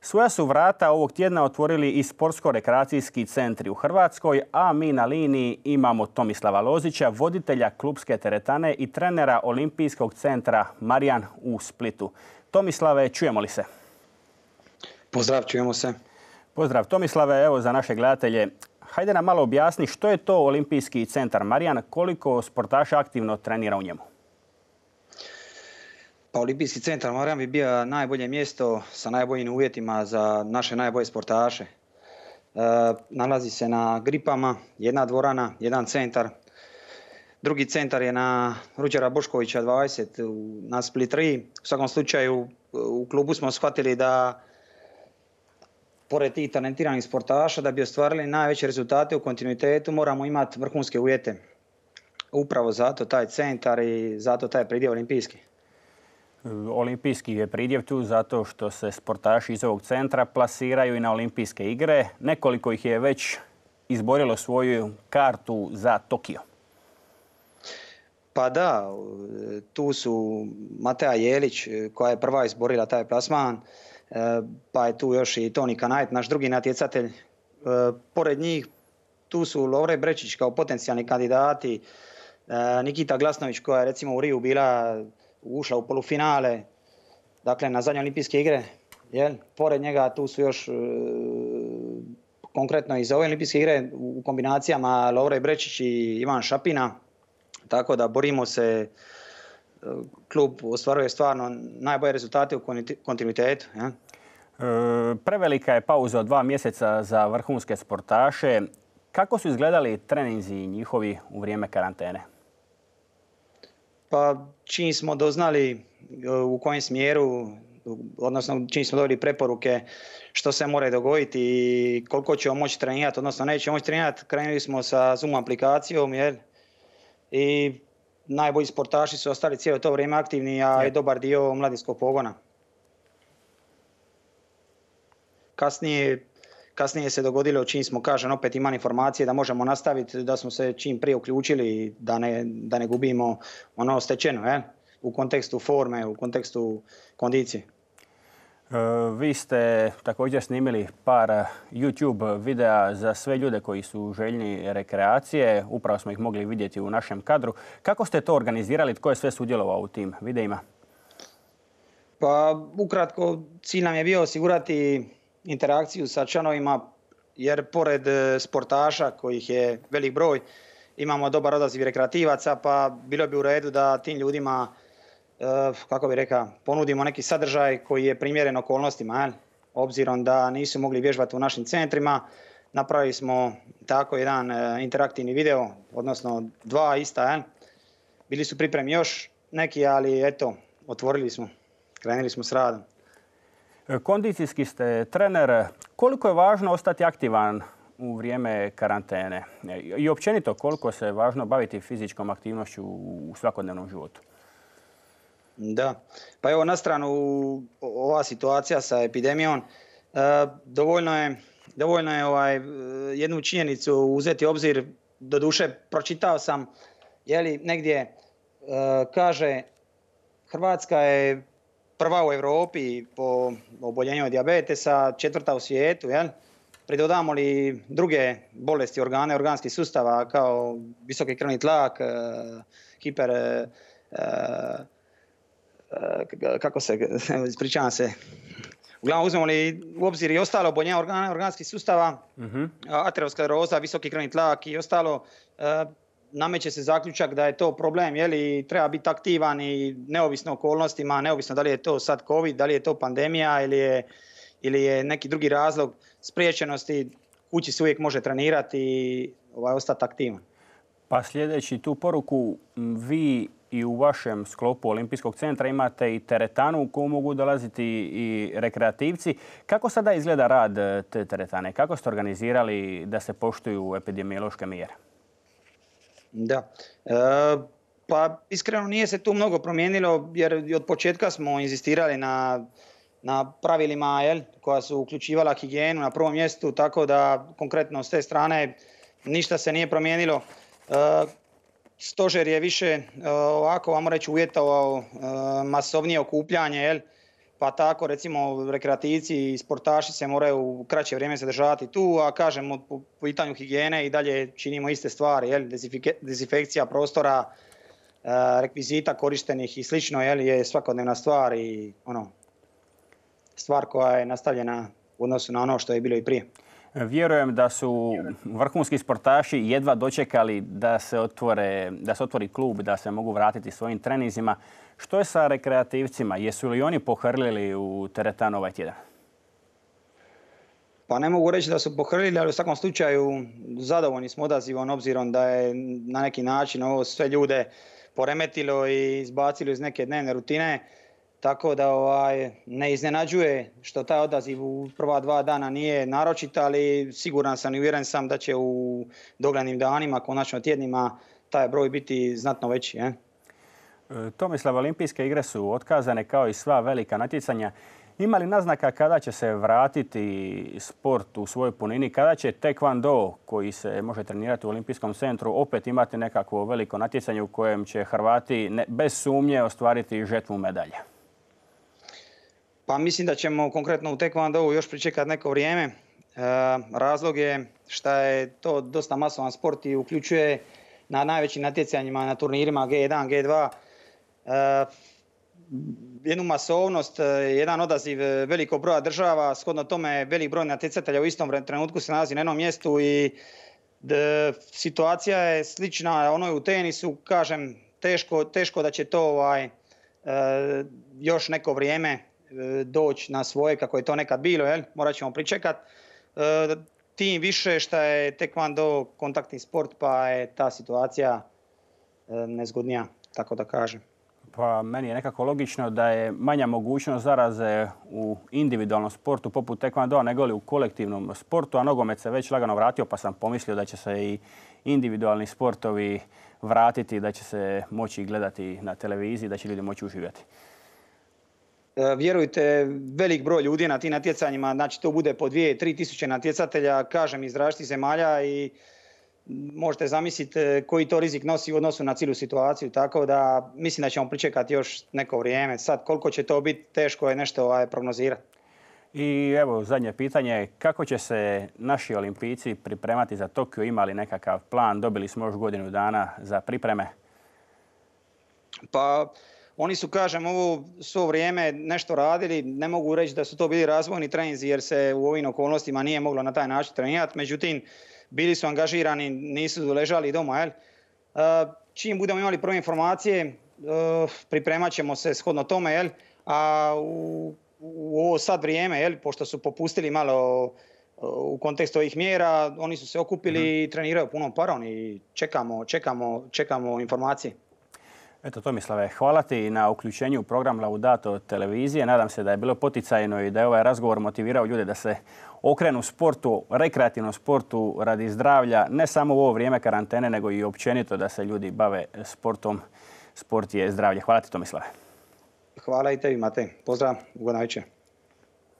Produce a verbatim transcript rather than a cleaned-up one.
Svoja su vrata ovog tjedna otvorili i sportsko-rekreacijski centri u Hrvatskoj, a mi na liniji imamo Tomislava Lozića, voditelja klubske teretane i trenera Olimpijskog centra Marijan u Splitu. Tomislave, čujemo li se? Pozdrav, čujemo se. Pozdrav Tomislave, evo za naše gledatelje. Hajde nam malo objasni što je to Olimpijski centar Marijan, koliko sportaša aktivno trenira u njemu? Pa Olimpijski centar Marijan bi bio najbolje mjesto sa najboljim uvjetima za naše najbolje sportaše. E, nalazi se na Gripama, jedna dvorana, jedan centar. Drugi centar je na Ruđera Boškovića dvadeset na Split tri. U svakom slučaju u klubu smo shvatili da pored tih talentiranih sportaša, da bi ostvarili najveće rezultate u kontinuitetu, moramo imati vrhunske uvjete. Upravo zato taj centar i zato taj pridjev olimpijski. Olimpijski je pridjev tu zato što se sportaši iz ovog centra plasiraju i na olimpijske igre. Nekoliko ih je već izborilo svoju kartu za Tokio. Pa da, tu su Mateja Jelić koja je prva izborila taj plasman. Pa je tu još i Toni Kanajt, naš drugi natjecatelj. Pored njih tu su Lovre Brečić kao potencijalni kandidati, Nikita Glasnović koja je recimo u Riju bila ušla u polufinale, dakle na zadnje olimpijske igre. Jel? Pored njega tu su još konkretno i za ove olimpijske igre u kombinacijama Lovre Brečić i Ivan Šapina. Tako da borimo se, klub ostvaruje stvarno najbolje rezultate u kontinuitetu. Ja? E, prevelika je pauza od dva mjeseca za vrhunske sportaše. Kako su izgledali treninzi njihovi u vrijeme karantene? Pa čim smo doznali u kojem smjeru, odnosno čim smo dobili preporuke što se mora dogoditi i koliko ćemo moći trenirati, odnosno nećemo moći trenirati, krenuli smo sa Zoom aplikacijom, jel? I najbolji sportaši su ostali cijelo to vrijeme aktivni, a i dobar dio mladinskog pogona. Kasnije, kasnije se dogodilo, čim smo, kažem, opet imali informacije da možemo nastaviti, da smo se čim prije uključili, da ne, da ne gubimo ono stečeno, eh? U kontekstu forme, u kontekstu kondicije. Vi ste također snimili par YouTube videa za sve ljude koji su željni rekreacije. Upravo smo ih mogli vidjeti u našem kadru. Kako ste to organizirali? Tko je sve sudjelovao u tim videima? Pa ukratko, cilj nam je bio osigurati interakciju sa članovima, jer pored sportaša kojih je velik broj, imamo dobar odaziv rekreativaca, pa bilo bi u redu da tim ljudima, kako bi rekao, ponudimo neki sadržaj koji je primjeren okolnostima. Jel? Obzirom da nisu mogli vježbati u našim centrima, napravili smo tako jedan interaktivni video, odnosno dva ista. Jel? Bili su pripremi još neki, ali eto, otvorili smo, krenuli smo s radom. Kondicijski ste trener. Koliko je važno ostati aktivan u vrijeme karantene? I općenito koliko se važno baviti fizičkom aktivnošću u svakodnevnom životu? Da, pa evo na stranu ova situacija sa epidemijom, dovoljno je, dovoljno je ovaj, jednu činjenicu uzeti u obzir. Doduše pročitao sam, jeli, negdje kaže Hrvatska je prva u Europi po oboljenju od dijabetesa, četvrta u svijetu. Jel? Pridodamo li druge bolesti organe, organskih sustava kao visoki krvni tlak, hiper... kako se, ispričavam se, uglavnom uzmemo li u obzir i ostalo oboljenja organa, organskih sustava, uh-huh. ateroskleroza, visoki krvni tlak i ostalo, nameće se zaključak da je to problem, jeli, treba biti aktivan i neovisno okolnostima, neovisno da li je to sad COVID, da li je to pandemija ili je, ili je neki drugi razlog spriječenosti, kući se uvijek može trenirati i ovaj, ostati aktivan. Pa sljedeći tu poruku, vi i u vašem sklopu Olimpijskog centra imate i teretanu u koju mogu dolaziti i rekreativci. Kako sada izgleda rad te teretane? Kako ste organizirali da se poštuju epidemiološke mjere? Da, e, pa iskreno nije se tu mnogo promijenilo jer od početka smo inzistirali na, na pravilima, jel, koja su uključivala higijenu na prvom mjestu, tako da konkretno s te strane ništa se nije promijenilo. E, Stožer je više ovako, vamo reći, uvjetovao masovnije okupljanje, jel? pa tako recimo rekreativci i sportaši se moraju u kraće vrijeme zadržavati tu, a kažemo po pitanju higijene i dalje činimo iste stvari, jel? Dezinfekcija prostora, rekvizita korištenih i slično, jel, je svakodnevna stvar i ono, stvar koja je nastavljena u odnosu na ono što je bilo i prije. Vjerujem da su vrhunski sportaši jedva dočekali da se, otvore, da se otvori klub, da se mogu vratiti svojim treninzima. Što je sa rekreativcima? Jesu li oni pohrlili u teretanu ovaj tjedan? Pa ne mogu reći da su pohrlili, ali u svakom slučaju zadovoljni smo odazivom, obzirom da je na neki način ovo sve ljude poremetilo i izbacilo iz neke dnevne rutine. Tako da ovaj, ne iznenađuje što taj odaziv u prva dva dana nije naročit, ali siguran sam i uvjeren sam da će u doglednim danima, konačno tjednima, taj broj biti znatno veći. Je? Tomislav, olimpijske igre su otkazane kao i sva velika natjecanja. Ima li naznaka kada će se vratiti sport u svojoj punini? Kada će taekwondo, koji se može trenirati u olimpijskom centru, opet imati nekakvo veliko natjecanje u kojem će Hrvati ne, bez sumnje ostvariti žetvu medalja? Pa mislim da ćemo konkretno u taekwondovu još pričekati neko vrijeme. E, razlog je što je to dosta masovan sport i uključuje na najvećim natjecanjima, na turnirima G jedan, G dva, e, jednu masovnost, jedan odaziv velikog broja država, shodno tome velik broj natjecatelja u istom trenutku se nalazi na jednom mjestu i d, situacija je slična onoj u tenisu, kažem, teško, teško da će to ovaj, e, još neko vrijeme e, doći na svoje kako je to nekad bilo, jel? Morat ćemo pričekati. E, tim više što je taekwondo kontaktni sport, pa je ta situacija e, nezgodnija, tako da kažem. Pa meni je nekako logično da je manja mogućnost zaraze u individualnom sportu poput taekwondoa nego li u kolektivnom sportu, a nogomet se već lagano vratio, pa sam pomislio da će se i individualni sportovi vratiti, da će se moći gledati na televiziji, da će ljudi moći uživati. E, vjerujte, velik broj ljudi na tim natjecanjima, znači to bude po dvije, tri tisuće natjecatelja, kažem, iz različitih zemalja i možete zamisliti koji to rizik nosi u odnosu na cijelu situaciju, tako da mislim da ćemo pričekati još neko vrijeme. Sad koliko će to biti, teško je nešto ovaj, prognozirati. I evo zadnje pitanje, kako će se naši olimpijci pripremati za Tokio? Ima li nekakav plan? Dobili smo još godinu dana za pripreme. Pa oni su, kažem, ovo svo vrijeme nešto radili. Ne mogu reći da su to bili razvojni treninzi jer se u ovim okolnostima nije moglo na taj način trenirati. Međutim, bili su angažirani, nisu ležali doma. Jel? Čim budemo imali prve informacije, pripremat ćemo se shodno tome. Jel? A u, u ovo sad vrijeme, jel? Pošto su popustili malo u kontekstu ovih mjera, oni su se okupili i treniraju punom parom i čekamo, čekamo, čekamo informacije. Eto, Tomislave, hvala ti na uključenju u program Laudato televizije. Nadam se da je bilo poticajno i da je ovaj razgovor motivirao ljude da se okrenu sportu, rekreativnom sportu radi zdravlja, ne samo u ovo vrijeme karantene, nego i općenito da se ljudi bave sportom. Sport je zdravlje. Hvala ti, Tomislave. Hvala i tebi, Matej. Pozdrav, ugodna večer.